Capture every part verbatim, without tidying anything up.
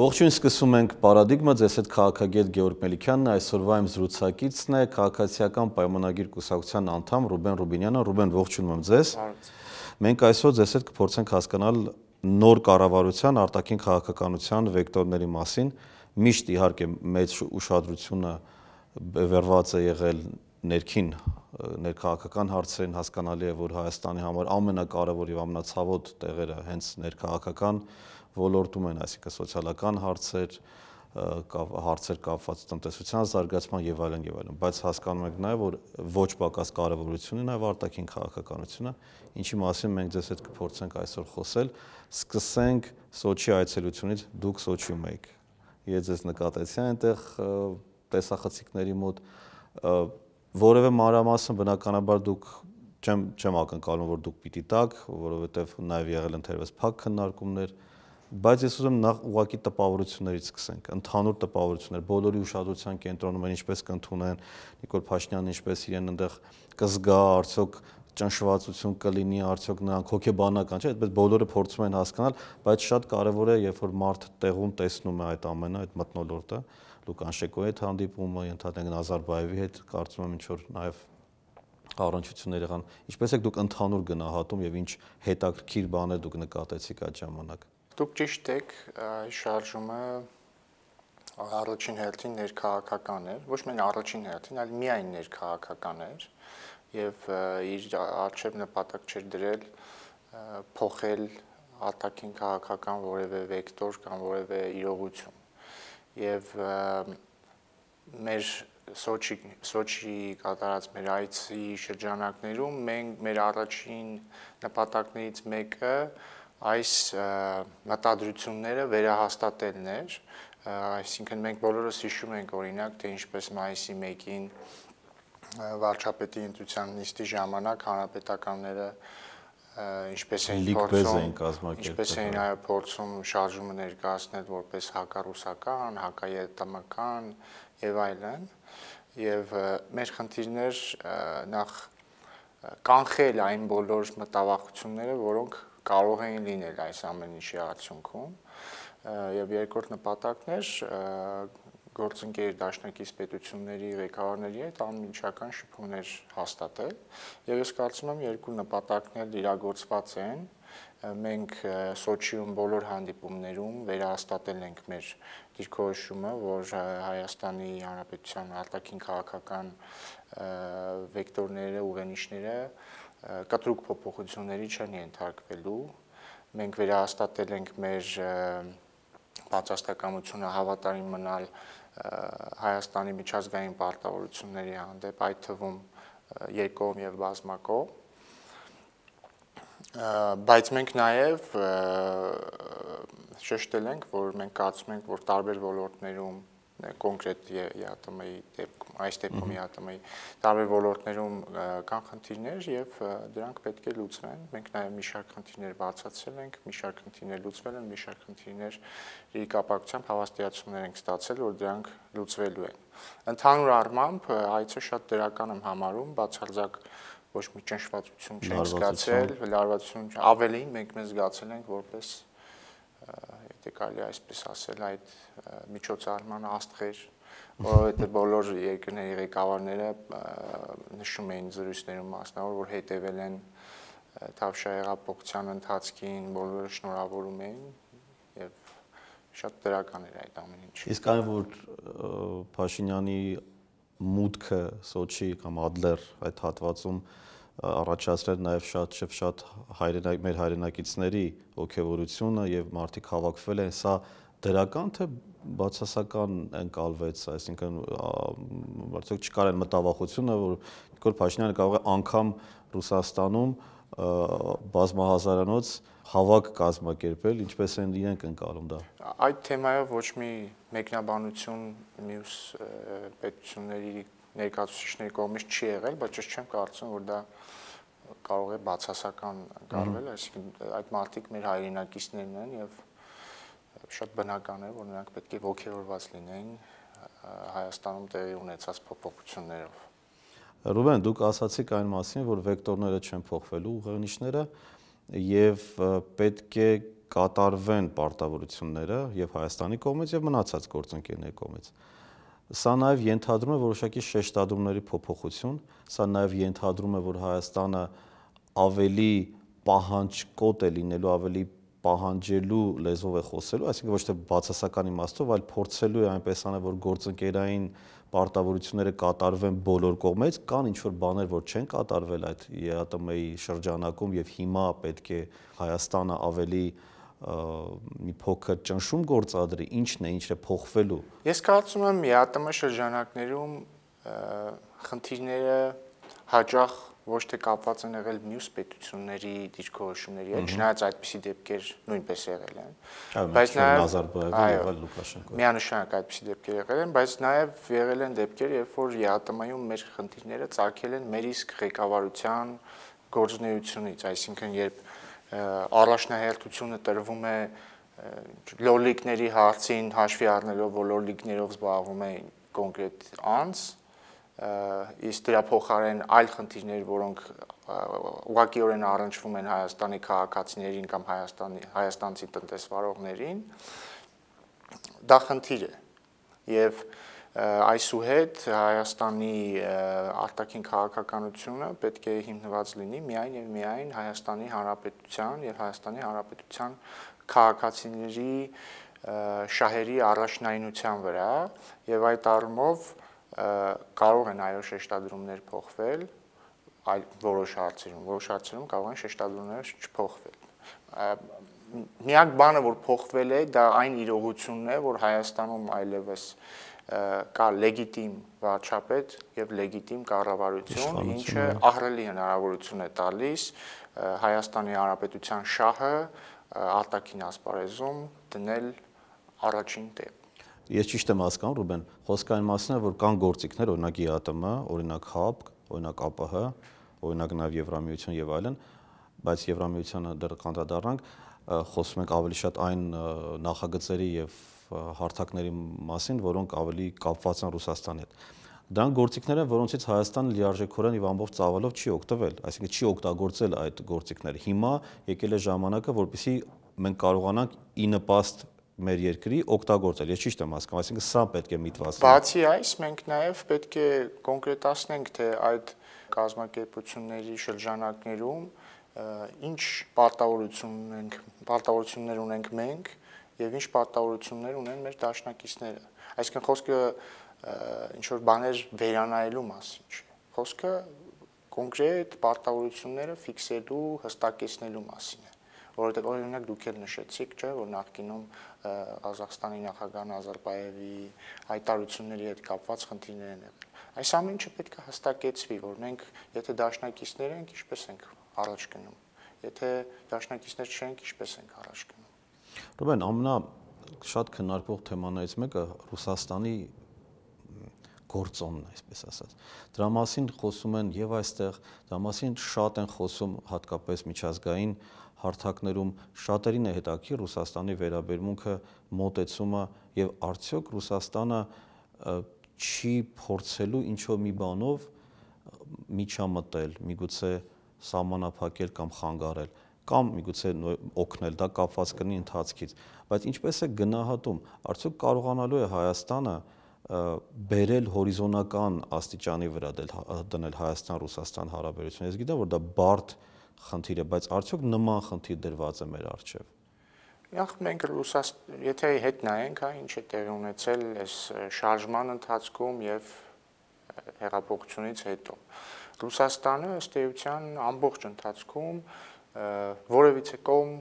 Ողջույն, սկսում ենք պարադիգմա, ձեզ հետ քաղաքագետ Գեորգ Մելիքյանն է, այսօրվա իմ զրուցակիցն է Քաղաքացիական պայմանագիր կուսակցության անդամ Ռուբեն Ռուբինյանը։ Ռուբեն, ողջունում եմ ձեզ։ Մենք այսօր ձեզ հետ կփորձենք հասկանալ նոր կառավարության արտաքին քաղաքականության վեկտորների մասին։ Միշտ իհարկե մեծ ուշադրությունը բևեռված է եղել ներքին ներքաղաքական հարցերին, հասկանալի է, որ Հայաստանի համար ամենակարևոր եւ ամենացավոտ տեղերը հենց ներքաղաքական ոլորտում են, այսինքն սոցիալական հարցեր, հարցեր կապված տնտեսության զարգացման եւ այլն եւ այլն, բայց հասկանում ենք նաեւ, որ ոչ պակաս կարեւորություն ունի նաեւ արտաքին քաղաքականությունը, ինչի մասին մենք ձեզ հետ կփորձենք այսօր խոսել։ Սկսենք Սոչի այցելությունից, դուք Սոչիում եք։ Ես ձեզ նկատեցի այնտեղ տեսախցիկների մոտ, որևէ մանրամասն բնականաբար դուք չեմ չեմ ակնկալում, որ դուք պիտի տաք, որովհետեւ նաեւ եղել են թերևս փակ քննարկումներ, բայց ես ուզում եմ նախ ուղղակի տպավորություններից սկսենք, ընդհանուր տպավորություններ, բոլորի ուշադրության կենտրոնում են, ինչպես կընդունեն Նիկոլ Փաշինյանն, ինչպես իրեն այնտեղ կզգա, արդյոք ճնշվածություն կլինի, արդյոք նրանք հոգեբանական չէ, այդպես բոլորը փորձում են հասկանալ, բայց շատ կարևոր է, երբ որ մարդ տեղում տեսնում է այդ ամենը, այդ մթնոլորտը, Լուկան Շեկոյի հետ հանդիպումը, ընդհանրեն Նազարբաևի հետ, կարծում եմ ինչ որ նաև առնչություններ եղան, ինչպես եք դուք ընդհանուր գնահատում եւ ինչ հետաքրքիր բաներ դուք նկատեցիք այդ ժամանակ։ Դուք ճիշտ եք, շարժումը առաջին հերթին ներքաղաքական էր, ոչ միայն առաջին հերթին, այլ միայն ներքաղաքական էր եւ իր արժեվ նպատակ չէր դրել փոխել արտաքին քաղաքական որևէ վեկտոր կամ որևէ իրողություն եւ մեր Սոչի Սոչի կատարած մեր այցի շրջանակներում մենք մեր առաջին նպատակներից մեկը այս մտադրությունները վերահաստատելն էր, այսինքն մենք բոլորս հիշում ենք օրինակ, թե ինչպես մայիսի մեկին վարչապետի ընտրության նիստի ժամանակ հանրապետականները ինչպես էին փորձում, ինչպես էին այո փորձում շարժումը ներկայացնել որպես հակառուսական, հակաետամական եւ այլն, եւ մեր խնդիրներ նախ կանխել այն բոլոր մտավախությունները, որոնք կարող էին լինել այս ամեն ինչի արդյունքում եւ երկրորդ նպատակն էր գործընկեր դաշնակից պետությունների ղեկավարների հետ անմիջական շփումներ հաստատել եւ ես կարծում եմ երկու նպատակն էլ իրագործված են մենք Սոչիում բոլոր հանդիպումներում վերահաստատել ենք մեր դիրքորոշումը, որ Հայաստանի Հանրապետության արտաքին քաղաքական վեկտորները, ուղենիշները կտրուկ փոփոխությունների չեն ենթարկվելու։ Մենք վերահաստատել ենք մեր պատրաստակամությունը հավատարիմ մնալ Հայաստանի միջազգային պարտավորությունների հանդեպ, այդ թվում երկկողմ եւ բազմակողմ, բայց մենք նաեւ շեշտել ենք, որ մենք կարծում ենք, որ տարբեր ոլորտներում կոնկրետ ԵԱՏՄ-ի դեպքում, այս դեպքում ԵԱՏՄ-ի տարբեր ոլորտներում կան խնդիրներ եւ դրանք պետք է լուծվեն։ Մենք նաեւ մի շարք խնդիրներ բացացրել ենք, մի շարք խնդիրներ լուծվել են, մի շարք խնդիրների կապակցությամբ հավաստիացումներ ենք ստացել, որ դրանք լուծվելու են։ Ընդհանուր առմամբ այցը շատ դրական եմ համարում, բացարձակ ոչ մի ճնշվածություն չենք զգացել, լարվածություն, ավելին մենք մեզ զգացել ենք որպես եթե կարելի այսպես ասել, այդ միջոցառման աստղեր, որովհետև բոլոր երկրների ղեկավարները նշում էին զրույցներում մասնավոր, որ հետևել են Թավշյա հեղափոխության ընթացքին, բոլորը շնորհավորում էին եւ շատ դրական էր այդ ամեն ինչը։ Իսկ այն որ Փաշինյանի մուտքը Սոչի կամ Ադլեր այդ հատվածում առաջացրել նաև շատ շփ շատ հայրենակ մեր հայրենակիցների ողջավորությունը եւ մարդիկ հավաքվել են, սա դրական թե բացասական ընկալվեց, այսինքն արդյոք չկար այն մտավախությունը, որ Նիկոլ Փաշինյանը կարող է անգամ Ռուսաստանում բազմահազարանոց հավաք կազմակերպել, ինչպես են իրենք ընկալում դա։ Այդ թեմայով ոչ մի մեկնաբանություն մյուս պետությունների ներկայացուցիչների կողմից չի եղել, բայց ես չեմ կարծում, որ դա կարող է բացասական ընկալվել, այսինքն այդ մարդիկ մեր հայրենակիցներն են եւ շատ բնական է, որ նրանք պետք է ողջավորված լինեն Հայաստանում տեղի ունեցած փոփոխություններով։ Ռուբեն, դուք ասացիք այն մասին, որ վեկտորները չեն փոխվելու ուղենիշները եւ պետք է կատարվեն պարտավորությունները եւ Հայաստանի կողմից եւ մնացած գործընկերների կողմից։ Սա նաեւ ենթադրում է որոշակի շեշտադրումների փոփոխություն, սա նաեւ ենթադրում է, որ Հայաստանը ավելի պահանջկոտ է լինելու, ավելի պահանջելու լեզվով է խոսելու, այսինքն ոչ թե բացասական իմաստով, այլ փորձելու է այնպես անել, որ գործընկերային պարտավորությունները կատարվեն բոլոր կողմից, կան ինչ-որ բաներ, որ չեն կատարվել այդ ԵԱՏՄ-ի շրջանակում եւ հիմա պետք է Հայաստանը ավելի մի փոքր ճնշում գործադրի, ինչն է, ինչն է փոխվելու։ Ես կարծում եմ ԵԱՏՄ շրջանակներում խնդիրները հաճախ ոչ թե կապված են եղել մյուս պետությունների դիրքորոշումների հետ, չնայած այդպիսի դեպքեր նույնպես եղել են, բայց նաև միանշանակ այդպիսի դեպքեր եղել են, բայց նաև եղել են դեպքեր, երբ որ ԵԱՏՄ-ում մեր խնդիրները ծագել են մեր իսկ ղեկավարության գործունեությունից, այսինքն երբ առաջնահերթությունը տրվում է լոլիկների հարցին հաշվի առնելով, որ լոլիկներով զբաղվում է կոնկրետ անձ, իսկ դրա փոխարեն այլ խնդիրներ, որոնք ուղղակիորեն առնչվում են Հայաստանի քաղաքացիներին կամ Հայաստանի հայաստանցի տնտեսվարողներին, դա խնդիր է եւ այսուհետ Հայաստանի արտաքին քաղաքականությունը պետք է հիմնված լինի միայն եւ միայն Հայաստանի Հանրապետության եւ Հայաստանի Հանրապետության քաղաքացիների շահերի առաջնայնության վրա եւ այդ առումով կարող են այո շեշտադրումներ փոխվել այլ որոշ հարցերում, որոշ հարցերում կարող են շեշտադրումներ չփոխվել։ Միակ բանը, որ փոխվել է, դա այն իրողությունն է, որ Հայաստանում այլևս կա լեգիտիմ վարչապետ եւ լեգիտիմ կառավարություն, ինչը ահռելի հնարավորություն է տալիս Հայաստանի Հանրապետության շահը արտաքին ասպարեզում դնել առաջին տեղ։ Ես ճիշտ եմ հասկանում, Ռուբեն, խոսքը այն մասին է, որ կան գործիքներ, օրինակ ԵԱՏՄ, օրինակ ՀԱՊԿ, օրինակ ԱՊՀ, օրինակ նաև Եվրամիություն եւ այլն, բայց Եվրամիությանը դեռ կանդրադառնանք, խոսում ենք ավելի շատ այն նախագծերի եւ հարթակների մասին, որոնք ավելի կապված են Ռուսաստանի հետ։ Դրանք գործիքներ են, որոնցից Հայաստանը լիարժեքորեն եւ ամբողջ ծավալով չի օգտվել, այսինքն չի օգտագործել այդ գործիքները։ Հիմա եկել է ժամանակը, որպեսզի մենք կարողանանք ի նպաստ մեր երկրի օգտագործել։ Ես ճիշտ եմ հասկանում, այսինքն սա պետք է միտված լինի։ Բացի այս, մենք նաև պետք է կոնկրետացնենք, թե այդ կազմակերպությունների շրջանակներում ինչ պարտավորություն ունենք, պարտավորություններ ունենք մենք եւ ինչ պարտավորություններ ունեն մեր դաշնակիցները։ Այսինքն խոսքը ինչ որ բաներ վերանայելու մասին չէ։ Խոսքը կոնկրետ պարտավորությունները ֆիքսելու, հստակեցնելու մասին է։ Որովհետեւ օրինակ դուք էլ նշեցիք, չէ, որ նախկինում Ղազախստանի նախագահ Նազարբաևի հայտարարությունների հետ կապված խնդիրներ են եղել։ Այս ամեն ինչը պետք է հստակեցվի, որ մենք եթե դաշնակիցներ ենք, ինչպես ենք առաջ գնում, եթե դաշնակիցներ չենք, ինչպես ենք առաջ գնում։ Ռուբեն, ամենա շատ քննարկվող թեմաներից մեկը Ռուսաստանի գործոնն է, այսպես ասած։ Դրա մասին խոսում են եւ այստեղ, դրա մասին շատ են խոսում հատկապես միջազգային հարթակներում, շատերին է հետաքրքիր Ռուսաստանի վերաբերմունքը, մոտեցումը եւ արդյոք Ռուսաստանը չի փորձելու ինչ-որ մի բանով միջամտել, միգուցե սահմանափակել կամ խանգարել, կամ միգուցե օգնել, դա կապված կլինի ընթացքից, բայց ինչպես է գնահատում, արդյոք կարողանալու է Հայաստանը բերել հորիզոնական աստիճանի վրա դնել Հայաստան-Ռուսաստան հարաբերությունը։ Ես գիտեմ, որ դա բարդ խնդիր է, բայց արդյոք նման խնդիր դրված է մեր առջև։ Նախ մենք Ռուսաստան, եթե հետ նայենք, հա, ինչ է տեղի ունեցել այս շարժման ընթացքում եւ հեղափոխությունից հետո։ Ռուսաստանը ըստ էության ամբողջ ընթացքում որևիցե կողմ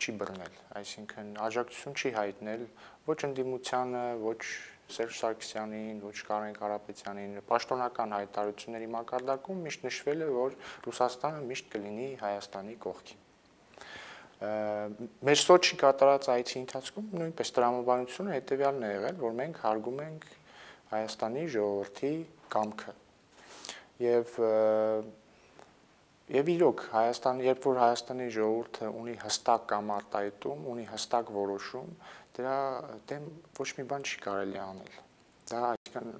չի բռնել, այսինքն աջակցություն չի հայտնել ոչ ընդդիմությանը, ոչ Սերժ Սարգսյանին, ոչ Կարեն Կարապետյանին, պաշտոնական հայտարարությունների մակարդակում միշտ նշվել է, որ Ռուսաստանը միշտ կլինի Հայաստանի կողքին։ Մեր Սոչի կատարած այցի ընթացքում նույնպես տրամաբանությունը հետևյալն է եղել, որ մենք հարգում ենք Հայաստանի ժողովրդի կամքը։ Եւ եւ իրոք Հայաստան, երբ որ Հայաստանի ժողովուրդը ունի հստակ կամ արտահայտում, ունի հստակ որոշում, դրա դեմ ոչ մի բան չի կարելի անել։ Դա այսինքն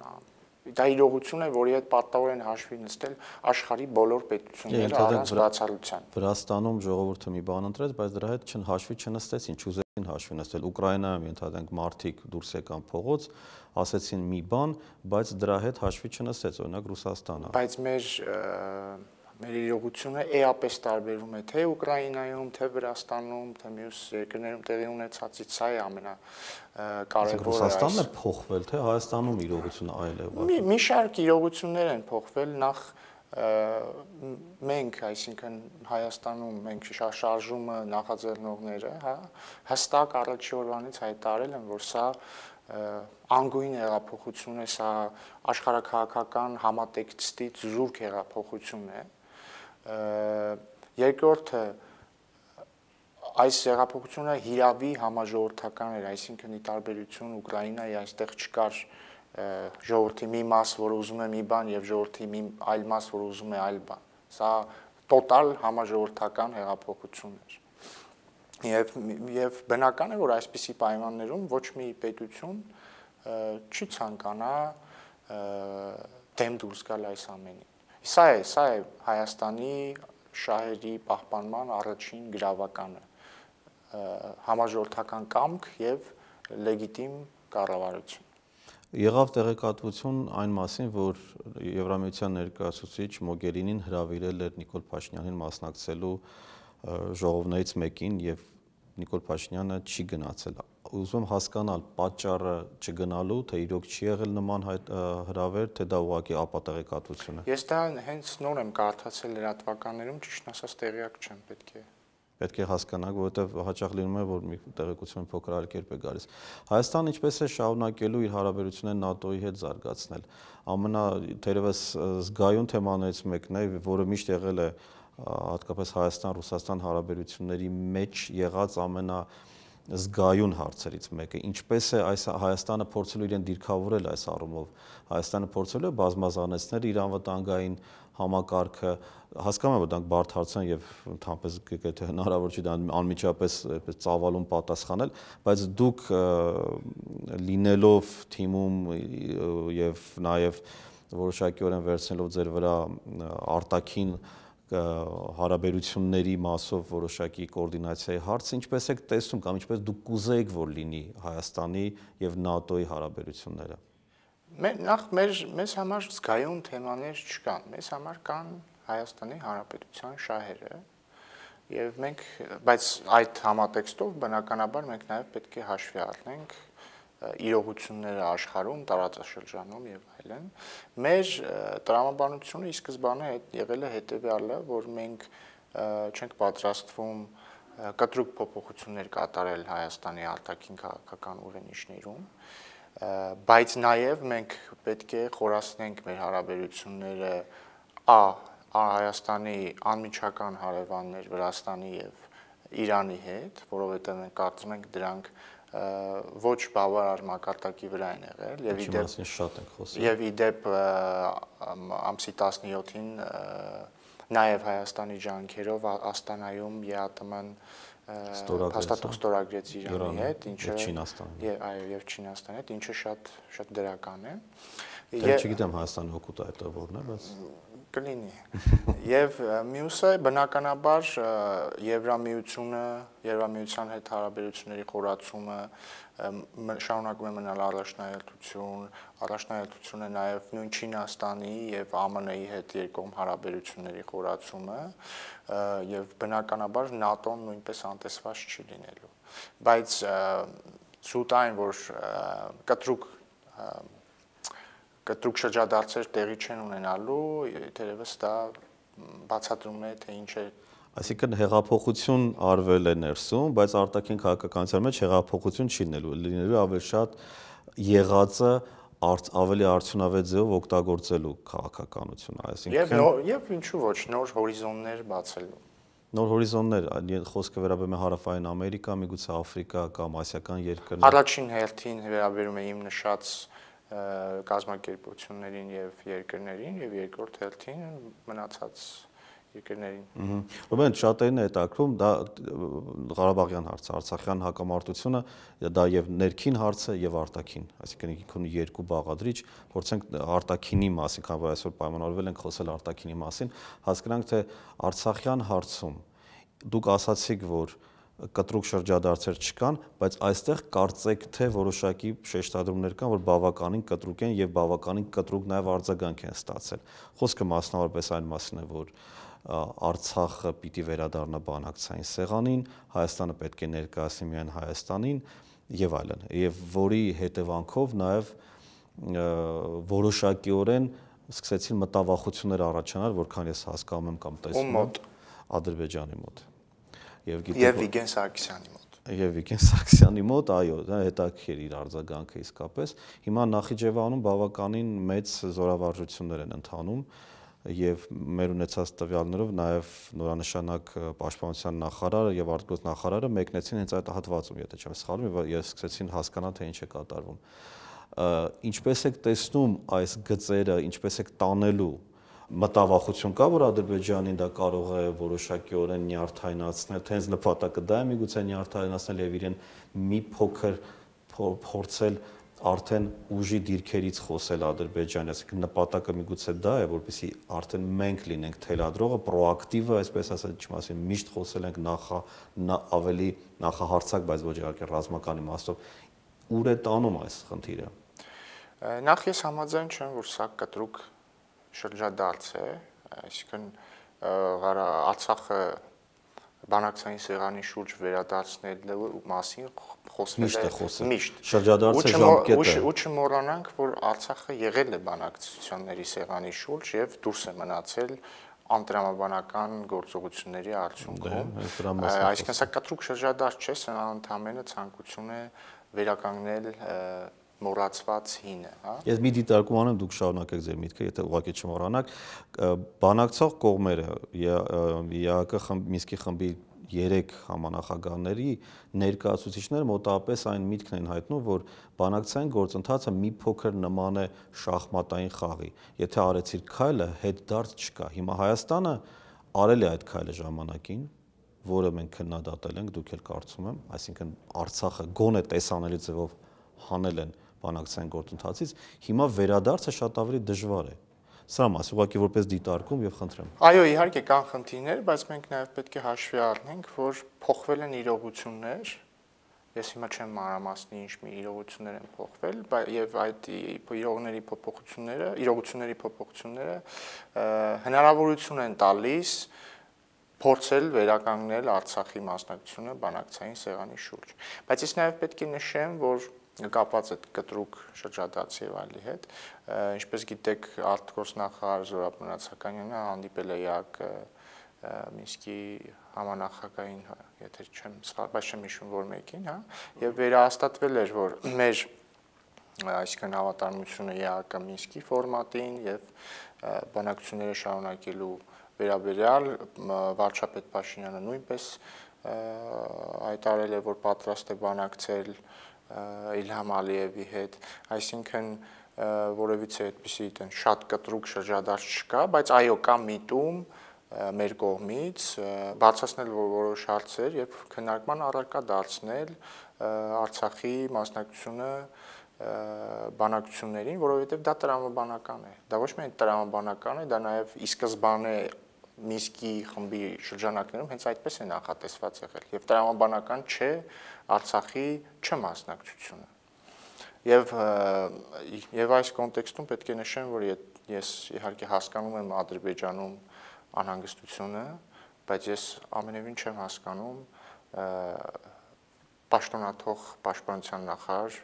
դա իրողություն է, որի հետ պատահորեն հաշվի նստել աշխարհի բոլոր պետությունները առանց բացառության։ Վրաստանում ժողովուրդը մի բան ընտրեց, բայց դրա հետ հաշվի չնստեցին, չուզեցին հաշվի նստել։ Ուկրաինայում ենթադրենք մարդիկ դուրս եկան փողոց, ասեցին մի բան, բայց դրա հետ հաշվի չնստեց, օրինակ Ռուսաստանը։ Բայց մեր մեր իրողությունը էապես տարբերում է թե Ուկրաինայում, թե Վրաստանում, թե մյուս երկրներում տեղի ունեցածից, սա է ամենակարևորը։ Ռուսաստանն է փոխվել, թե Հայաստանում իրողությունը այլ է։ Մի շարք իրողություններ են փոխվել, նախ մենք, այսինքն Հայաստանում մենք շարժումը նախաձեռնողները, հա, հստակ առաջի օրվանից հայտարարել են, որ սա անգույն հեղափոխություն է, սա աշխարհաքաղաքական համատեքստից զուրկ հեղափոխություն է։ Երկրորդը այս հեղափոխությունը հիրավի համաժողովրդական էր, այսինքն ի տարբերություն Ուկրաինայի այստեղ չկար ժողովրդի մի մաս, որը ուզում է մի բան եւ ժողովրդի մի այլ մաս, որը ուզում է այլ բան։ Սա տոտալ համաժողովրդական հեղափոխություն էր։ Եվ եւ բնական է, որ այսպիսի պայմաններում ոչ մի պետություն չի ցանկանա դեմ դուրս գալ այս ամենին։ Սա է, սա է Հայաստանի շահերի պահպանման առաջին գրավականը, համաժողովրդական կամք եւ լեգիտիմ կառավարություն։ Եղավ տեղեկատվություն այն մասին, որ Եվրամիության ներկայացուցիչ Մոգերինին հրավիրել էր Նիկոլ Փաշինյանին մասնակցելու ժողովներից մեկին եւ Նիկոլ Փաշինյանը չի գնացել։ Ուզում եմ հասկանալ պատճառը չգնալու, թե իրոք չի եղել նման հրավեր, թե դա ուղղակի ապատեղեկատվություն է։ Ես դա հենց նոր եմ կարդացել լրատվականներում, ճիշտ ասած տեղյակ չեմ, պետք է պետք է հասկանանք, որովհետև հաճախ լինում է, որ մի տեղեկություն փոքր այլ կերպ է գալիս։ Հայաստանը ինչպես է շարունակելու իր հարաբերությունները ՆԱՏՕ-ի հետ զարգացնել։ Ամենա թերևս զգայուն թեմաներից մեկն է, որը միշտ եղել է հատկապես Հայաստան-Ռուսաստան հարաբերությունների մեջ եղած ամենա զգայուն հարցերից մեկը, ինչպես է այս Հայաստանը փորձելու իրեն դիրքավորել այս առումով, Հայաստանը փորձելու է բազմազանեցնել իր անվտանգային համակարգը, հասկանում եմ, որ դրանք բարդ հարց են եւ ընդհանրապես եթե հնարավոր չի դա անմիջապես այդպես ծավալուն պատասխանել, բայց դուք լինելով թիմում եւ նաեւ որոշակիորեն վերցնելով ձեր վրա արտաքին հարաբերությունների մասով որոշակի կոորդինացիայի հարցը ինչպես եք տեսնում կամ ինչպես դուք կուզեիք որ լինի Հայաստանի եւ ՆԱՏՕ-ի հարաբերությունները։ Նախ մեր մեզ համար զգայուն թեմաներ չկան, մեզ համար կան Հայաստանի Հանրապետության շահերը եւ մենք, բայց այդ համատեքստով բնականաբար մենք նաեւ պետք է հաշվի առնենք իրողությունները աշխարհում, տարածաշրջանում եւ այլն։ Մեր տրամաբանությունը ի սկզբանե եղել է հետեւյալը, որ մենք չենք պատրաստվում կտրուկ փոփոխություններ կատարել Հայաստանի արտաքին քաղաքական ուղենիշներում, բայց նաեւ մենք պետք է խորացնենք մեր հարաբերությունները ա Հայաստանի անմիջական հարևաններ Վրաստանի եւ Իրանի հետ, որովհետեւ մենք կարծում ենք դրանք ոչ բավարար մակարդակի վրա են եղել եւ իդեպ շատ ենք խոսում եւ իդեպ ամսի տասնյոթին նաեւ Հայաստանի ջանքերով Աստանայում ԵԱՏՄ-ն հաստատող ստորագրեց Իրանի հետ, ինչը եւ այո եւ Չինաստանի հետ, ինչը շատ շատ դրական է։ Դե չգիտեմ Հայաստանի օգուտը այդ որն է, բայց կլինի։ Եվ մյուսը բնականաբար Եվրամիությունը, Եվրամիության հետ հարաբերությունների խորացումը շարունակում է մնալ առաջնահերթություն, առաջնահերթություն է նաև նույն Չինաստանի եւ ԱՄՆ-ի հետ երկկողմ հարաբերությունների խորացումը եւ բնականաբար ՆԱՏՕ-ն նույնպես անտեսված չի լինելու։ Բայց սուտ այն, որ կտրուկ կտրուկ շրջադարձեր տեղի չեն ունենալու, թերևս դա բացատրում է, թե ինչ է։ Այսինքն հեղափոխություն արվել է ներսում, բայց արտաքին քաղաքականության մեջ հեղափոխություն չի լինելու, լինելու ավելի շատ եղածը ավելի արդյունավետ ձևով օգտագործելու քաղաքականություն, այսինքն եւ ինչու ոչ նոր հորիզոններ բացելու։ Նոր հորիզոններ, խոսքը վերաբերում է Հարավային Ամերիկա, միգուցե Աֆրիկա կամ ասիական երկրներ։ Առաջին հերթին վերաբերում է իմ նշած կազմակերպություններին եւ երկրներին եւ երկրորդ հերթին մնացած երկրներին։ Ուրեմն շատերին է հետաքրում դա Ղարաբաղյան հարցը, Արցախյան հակամարտությունը, դա եւ ներքին հարցը եւ արտաքին, այսինքն ինքն երկու բաղադրիչ, փորձենք արտաքինի մասին, քանի որ այսօր պայմանավորվել ենք խոսել արտաքինի մասին, հասկանանք թե Արցախյան հարցում դուք ասացիք, որ կտրուկ շրջադարձեր չկան, բայց այստեղ կարծեք թե որոշակի շեշտադրումներ կան, որ բավականին կտրուկ են եւ բավականին կտրուկ նաեւ արձագանք են ստացել։ Խոսքը մասնավորապես այն մասին է, որ Արցախը պիտի վերադառնա բանակցային սեղանին, Հայաստանը պետք է ներկայացնի միայն Հայաստանին եւ այլն, եւ որի հետևանքով նաեւ որոշակիորեն սկսեցին մտավախություններ առաջանալ, որքան ես հասկանում եմ կամ տեսնում եմ Ադրբեջանի մոտ։ Եվ Վիգեն Սարգսյանի մոտ։ Եվ Վիգեն Սարգսյանի մոտ, այո, դա հետաքրքիր իր արձագանքը իսկապես։ Հիմա Նախիջևանում բավականին մեծ զորավարժություններ են ընթանում եւ մեր ունեցած տվյալներով նաեւ նորանշանակ պաշտպանության նախարարը եւ արտգործնախարարը նախարարը մեկնեցին հենց այդ հատվածում, եթե չեմ սխալվում, եւ սկսեցին հասկանալ թե ինչ է կատարվում։ Ինչպես եք տեսնում այս գծերը, ինչպես եք տանելու մտավախություն կա, որ Ադրբեջանին դա կարող է որոշակիորեն նյարդայնացնել, թե հենց նպատակը դա է միգուցե նյարդայնացնել եւ իրեն մի փոքր փորձել արդեն ուժի դիրքերից խոսել Ադրբեջանի, այսինքն նպատակը միգուցե դա է, որպեսզի արդեն մենք լինենք թելադրողը, պրոակտիվը, այսպես ասած, չմասին միշտ խոսել ենք նախա ավելի նախահարցակ, բայց ոչ իհարկե ռազմական իմաստով, ուր է տանում այս խնդիրը։ Նախ ես համաձայն չեմ, որ սա կտրուկ շրջադարձ է, այսինքն Արցախը բանակցային սեղանի շուրջ վերադարձնելու մասին խոսվել է միշտ։ Շրջադարձը ժամկետ է։ Ու չմոռանանք, որ Արցախը եղել է բանակցությունների սեղանի շուրջ եւ դուրս է մնացել անտրամաբանական գործողությունների արդյունքում։ Այսինքն սա կտրուկ շրջադարձ չէ, սա ընդհանրապես ցանկություն է վերականգնել մոռացված հինը, հա։ Ես մի դիտարկում անեմ, դուք շարունակեք ձեր միտքը, եթե ուղղակի չմոռանաք, բանակցող կողմերը ԵԱՀԿ Մինսկի խմբի երեք համանախագահների ներկայացուցիչները մոտավորապես այն միտքն են հայտնում, որ բանակցային գործընթացը մի փոքր նման է շախմատային խաղի։ Եթե արեցիր քայլը, հետդարձ չկա։ Հիմա Հայաստանը արել է այդ քայլը ժամանակին, որը մենք քննադատել ենք, դուք էլ կարծում եմ, այսինքն Արցախը գոնե տեսանելի ձևով հանել են բանակցային գործընթացից, հիմա վերադարձը շատ ավելի դժվար է։ Սրա մաս ուղղակի որպես դիտարկում եւ խնդրեմ։ Այո, իհարկե կան խնդիրներ, բայց մենք նաեւ պետք է հաշվի առնենք, որ փոխվել են իրողություններ։ Ես հիմա չեմ մանրամասնի ինչ մի իրողություններ են փոխվել, եւ այդ իրողների փոփոխությունները, իրողությունների փոփոխությունները հնարավորություն են տալիս փորձել վերականգնել Արցախի մասնակցությունը բանակցային սեղանի շուրջ։ Բայց ես նաեւ պետք է նշեմ, որ կապված է կտրուկ շրջադարձի եւ այլի հետ, ինչպես գիտեք, արտգործնախարար Զորաբ Մնացականյանը հանդիպել է ԵԱՀԿ Մինսկի համանախագահային, եթե չեմ սխալ, բայց չեմ հիշում որ մեկին, հա, եւ վերահաստատվել էր, որ մեր այսինքն հավատարմությունը ԵԱՀԿ Մինսկի ֆորմատին եւ բանակցությունները շարունակելու վերաբերյալ վարչապետ Փաշինյանը նույնպես հայտարարել է, որ պատրաստ է բանակցել Իլհամ Ալիևի հետ, այսինքն որևիցե այդպիսի այդեն շատ կտրուկ շրջադարձ չկա, բայց այո կա միտում մեր կողմից բացասնել որոշ հարցեր եւ քննարկման առարկա դարձնել Արցախի մասնակցությունը բանակցություններին, որովհետեւ դա տրամաբանական է։ Դա ոչ միայն տրամաբանական է, դա նաեւ ի սկզբանե Մինսկի խմբի շրջանակներում հենց այդպես է նախատեսված եղել եւ տրամաբանական չէ Արցախի չմասնակցությունը։ Եվ եւ այս կոնտեքստում պետք է նշեմ, որ ես իհարկե հասկանում եմ Ադրբեջանում անհանգստությունը, բայց ես ամենևին չեմ հասկանում պաշտոնաթող պաշտպանության նախարար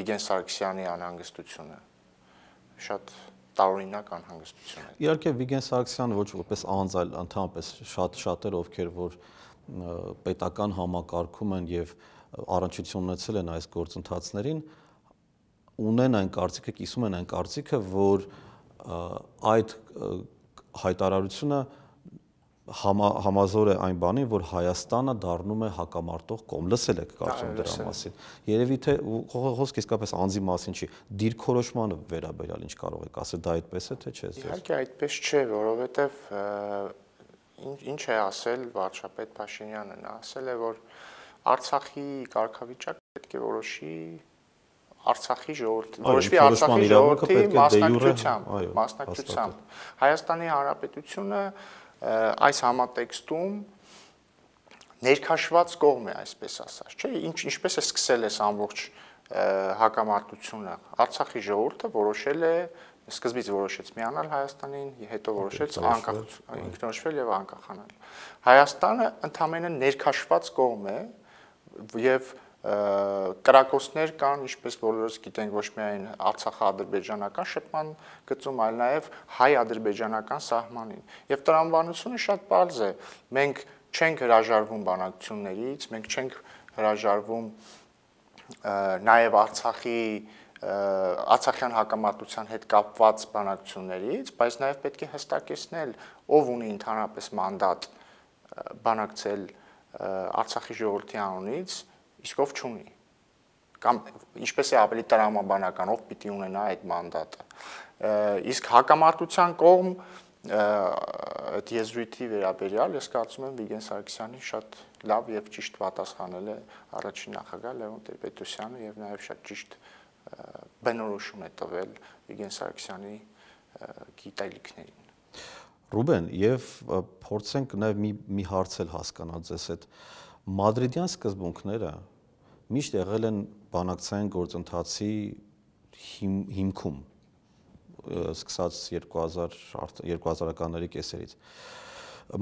Վիգեն Սարգսյանի անհանգստությունը։ Շատ տարօրինակ անհանգստություն է։ Իհարկե Վիգեն Սարգսյանը ոչ որպես անձ, այլ ընդհանրապես շատ շատեր, ովքեր որ պետական համակարգում են եւ առնչություն ունեցել են այս գործընթացներին, ունեն այն կարծիքը, կիսում են այն կարծիքը, որ այդ հայտարարությունը համազոր է այն բանին, որ Հայաստանը դառնում է հակամարտող կողմ։ Լսել եք կարծում դրա մասին։ Երևի թե խոսքը իսկապես անձի մասին չի, դիրքորոշմանը վերաբերյալ ինչ կարող եք ասել, դա այդպես է թե չէ։ Իհարկե այդպես չէ, որովհետև ինչ է ասել վարչապետ Փաշինյանը, նա ասել է, որ Արցախի կարգավիճակը պետք է որոշի Արցախի ժողովրդի, որոշվի Արցախի ժողովրդի մասնակցությամբ, մասնակցությամբ։ Հայաստանի Հանրապետությունը այս համատեքստում ներքաշված կողմ է, այսպես ասած, չէ՞, ինչ ինչպես է սկսել այս ամբողջ հակամարտությունը։ Արցախի ժողովուրդը որոշել է սկզբից որոշեց միանալ Հայաստանին, հետո որոշեց անկախ ինքնորոշվել եւ անկախանալ։ Հայաստանը ընդամենը ներքաշված կողմ է եւ կրակոցներ կան, ինչպես բոլորս գիտենք, ոչ միայն Արցախա-ադրբեջանական շփման գծում, այլ նաեւ հայ-ադրբեջանական սահմանին։ Եվ տրամաբանությունը շատ պարզ է։ Մենք չենք հրաժարվում բանակցություններից, մենք չենք հրաժարվում նաեւ Արցախի Արցախյան հակամարտության հետ կապված բանակցություններից, բայց նաև պետք է հստակեցնել, ով ունի ընդհանրապես մանդատ բանակցել Արցախի ժողովրդի անունից, իսկ ով չունի։ Կամ ինչպես է ավելի տրամաբանական, ով պիտի ունենա այդ մանդատը։ Իսկ հակամարտության կողմ այդ եզրույթի վերաբերյալ ես կարծում եմ Վիգեն Սարգսյանին շատ լավ եւ ճիշտ պատասխանել է առաջին նախագահ Լևոն Տեր-Պետրոսյանը եւ նաեւ շատ ճիշտ բնորոշում է տվել Վիգեն Սարգսյանի գիտելիքներին։ Ռուբեն, եւ փորձենք նաեւ մի մի հարց էլ հասկանալ ձեզ հետ։ Մադրիդյան սկզբունքները միշտ եղել են բանակցային գործընթացի հիմքում, սկսած երկու հազարականների կեսերից։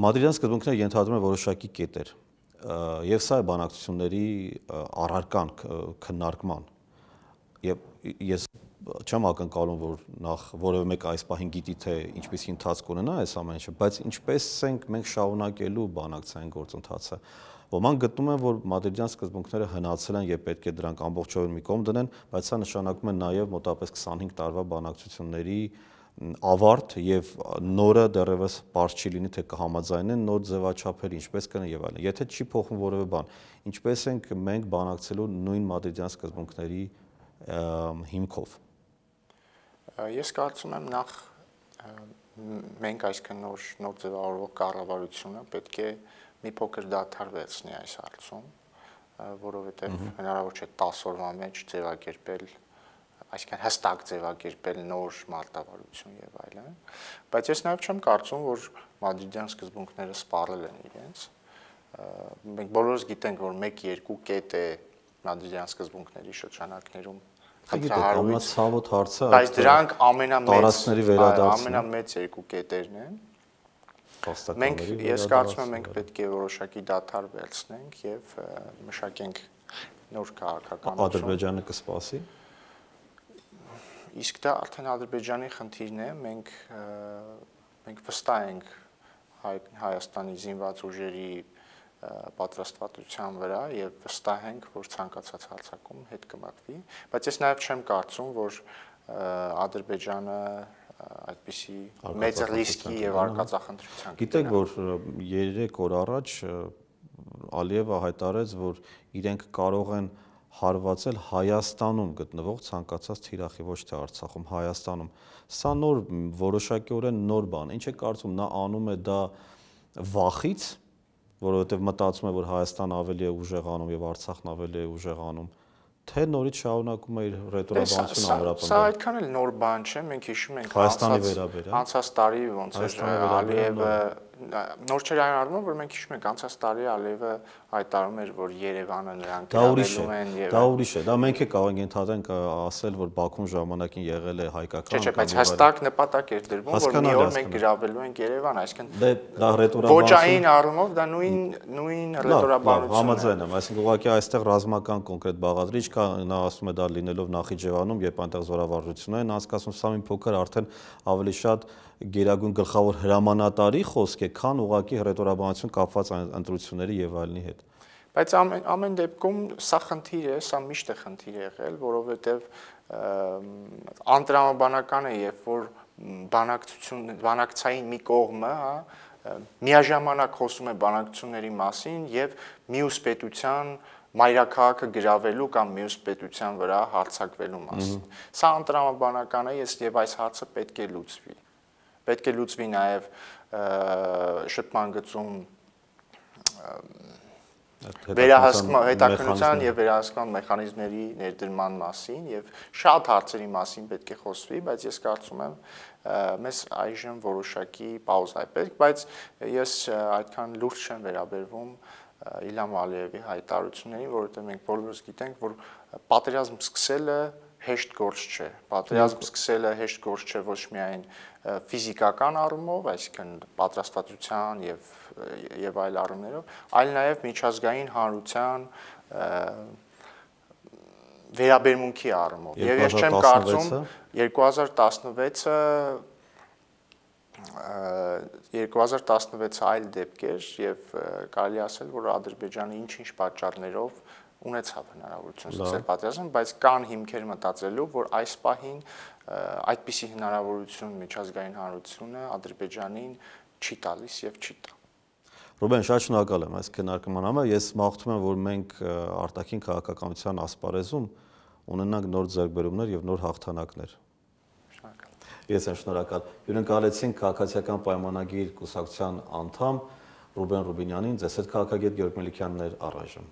Մադրիդյան սկզբունքները ենթադրում են որոշակի կետեր, եւ սա է բանակցությունների առարկան քննարկման։ Եվ ես չեմ ակնկալում, որ նախ որևէ մեկ այս պահին գիտի, թե ինչպեսի ընթացք ունենա այս ամեն ինչը, բայց ինչպես ենք մենք շարունակելու բանակցային գործընթացը։ Ոմանք գտնում են, որ մադրիդյան սկզբունքները հնացել են եւ պետք է դրանք ամբողջովին մի կողմ դնեն, բայց սա նշանակում է նաեւ մոտավորապես քսանհինգ տարվա բանակցությունների ավարտ եւ նորը դեռևս բարձ չի լինի, թե կհամաձայնեն նոր ձևաչափեր, ինչպես կնեն եւ այլն։ Եթե չի փոխվում որևէ բան, ինչպես ենք մենք բանակցելու նույն մադրիդյան սկզբունքների հիմքով։ Ես կարծում եմ նախ մենք այսքան նոր նոր ձևավորվող կառավարությունը պետք է մի փոքր դադարվեցնի այս հարցում, որովհետև հնարավոր չէ տասը օրվա մեջ ձևակերպել, այսինքն հստակ ձևակերպել նոր մարտավարություն եւ այլն, բայց ես նաեւ չեմ կարծում, որ մադրիդյան սկզբունքները սպառել են իրենց։ Մենք բոլորս գիտենք, որ մեկ-երկու կետ է մադրիդյան սկզբունքների շրջանակներում խնդրահարույց, բայց դրանք ամենամեծ վերադարձն ամենամեծ երկու կետերն են։ Մենք ես կարծում եմ մենք պետք է որոշակի դադար վերցնենք եւ մշակենք նոր քաղաքականություն։ Ադրբեջանը կսպասի։ Իսկ դա արդեն Ադրբեջանի խնդիրն է, մենք մենք վստահ ենք Հայաստանի զինված ուժերի պատրաստվածության վրա եւ վստահ ենք, որ ցանկացած հարձակում հետ կմղվի, բայց ես նաեւ չեմ կարծում, որ Ադրբեջանը այդպիսի մեծ ռիսկի եւ արկածախնդրության։ Գիտեք, որ երեք օր առաջ Ալիևը հայտարարեց, որ իրենք կարող են հարվածել Հայաստանում գտնվող ցանկացած թիրախի, ոչ թե Արցախում, Հայաստանում։ Սա նոր որոշակիորեն նոր բան։ Ինչ է կարծում, նա անում է դա վախից, որովհետև մտածում է, որ Հայաստանը ավելի է ուժեղանում եւ Արցախն ավելի է ուժեղանում, թե նորից շարունակում է իր ռետորաբանությունը ամրապնդել։ Սա այդքան էլ նոր բան չէ, մենք հիշում ենք Հայաստանի վերաբերյալ անցած տարի ոնց էր Ալիևը նոր չէր այն առումով, որ մենք հիշում ենք անցած տարի Ալիևը հայտարարում էր, որ Երևանը նրանք գրավելու են եւ դա ուրիշ է, դա մենք է կարող ենք ընդհանրենք ասել, որ Բաքուն ժամանակին եղել է հայկական։ Չէ, բայց հստակ նպատակ էր դրվում, որ մի օր մենք գրավելու ենք Երևան, այսինքն դա ռետորաբանություն ոչային առումով դա նույն նույն ռետորաբանությունն է։ Համաձայն եմ, այսինքն ուղղակի այստեղ ռազմական կոնկրետ բաղադրիչ կա, նա ասում է դա լինելով Նախիջևանում, երբ այնտեղ զորավարժություններ են անցկացվում, սա մի փոքր արդեն ավելի շատ գերագույն գլխավոր հրամանատարի խոսք է, քան ուղղակի ռետորաբանություն կապված ընտրությունների եւ այլնի հետ։ Բայց ամեն ամեն դեպքում սա խնդիր է, սա միշտ է խնդիր եղել, որովհետեւ անտրամաբանական է, երբ որ բանակցություն բանակցային մի կողմը, հա, միաժամանակ խոսում է բանակցությունների մասին եւ մյուս պետության մայրաքաղաքը գրավելու կամ մյուս պետության վրա հարձակվելու մասին։ Սա անտրամաբանական է, եւ այս հարցը պետք է լուծվի։ Պետք է լուծվի նաև շփման գծում վերահսկման հետաքննության եւ վերահսկման մեխանիզմների ներդրման մասին եւ շատ հարցերի մասին պետք է խոսվի, բայց ես կարծում եմ մեզ այժմ որոշակի պաուզա է պետք, բայց ես այդքան լուրջ չեմ վերաբերվում Իլհամ Ալիևի հայտարարություններին, որովհետեւ մենք բոլորս գիտենք, որ պատերազմ սկսելը հեշտ գործ չէ։ Պատերազմ սկսելը հեշտ գործ չէ ոչ միայն ֆիզիկական առումով, այսինքն պատրաստվածության եւ եւ այլ առումներով, այլ նաեւ միջազգային հանրության վերաբերմունքի առումով։ Եվ ես չեմ կարծում երկու հազար տասնվեցը երկու հազար տասնվեցը այլ դեպք էր եւ կարելի ասել, որ Ադրբեջանը ինչ-ինչ պատճառներով ունեցավ հնարավորություն սկսել պատերազմ, բայց կան հիմքեր մտածելու, որ այս պահին այդպիսի հնարավորություն միջազգային հանրությունը Ադրբեջանին չի տալիս եւ չի տա։ Ռուբեն, շատ շնորհակալ եմ այս քննարկման համար։ Ես մաղթում եմ, որ մենք արտաքին քաղաքականության ասպարեզում ունենանք նոր ձեռքբերումներ եւ նոր հաղթանակներ։ Շնորհակալ։ Ես եմ շնորհակալ։ Հյուրընկալեցինք քաղաքացիական պայմանագիր կուսակցության անդամ Ռուբեն Ռուբինյանին, ձեզ հետ քաղաքագետ Գեորգ Մելիքյանն էր առայժմ։